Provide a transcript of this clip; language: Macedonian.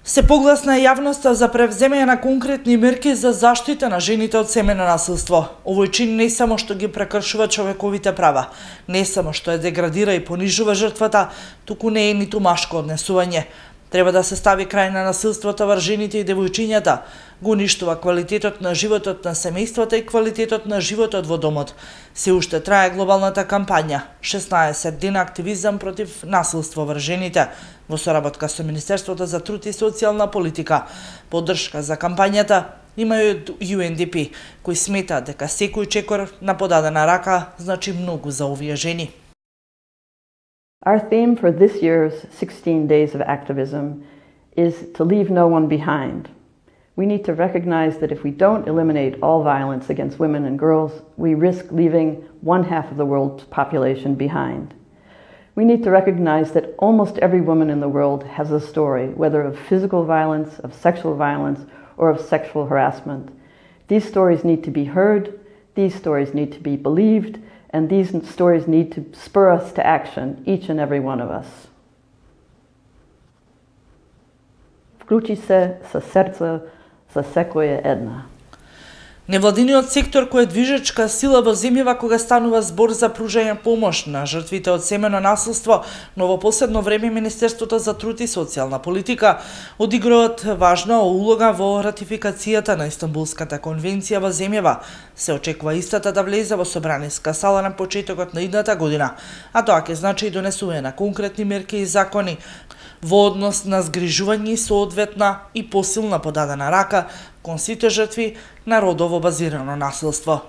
Се погласна јавноста за превземање на конкретни мерки за заштита на жените од семејно насилство. Овој чин не само што ги прекршува човековите права, не само што ја деградира и понижува жртвата, туку не е ниту машко однесување. Треба да се стави крај на насилството врз жените и девојчињата, го уништува квалитетот на животот на семејствата и квалитетот на животот во домот. Се уште трае глобалната кампања 16 дена активизам против насилство врз жените во соработка со Министерството за труд и социјална политика. Поддршка за кампањата има и од UNDP, кои сметаат дека секој чекор на подадена рака значи многу за овие жени. Our theme for this year's 16 Days of Activism is to leave no one behind. We need to recognize that if we don't eliminate all violence against women and girls, we risk leaving 1/2 of the world's population behind. We need to recognize that almost every woman in the world has a story, whether of physical violence, of sexual violence, or of sexual harassment. These stories need to be heard, these stories need to be believed, and these stories need to spur us to action, each and every one of us. Вклучи се со срце за секоја една. Невладиниот сектор кој е движечка сила во земјава кога станува збор за пружање помош на жртвите од семејно насилство, но во последно време Министерството за труд и социјална политика одиграат важна улога во ратификацијата на Истанбулската конвенција во земјава. Се очекува истата да влезе во собраниска сала на почетокот на идната година, а тоа ќе значи и донесување на конкретни мерки и закони во однос на згрижување и соодветна и посилна подадена рака кон сите жртви на родово базирано насилство.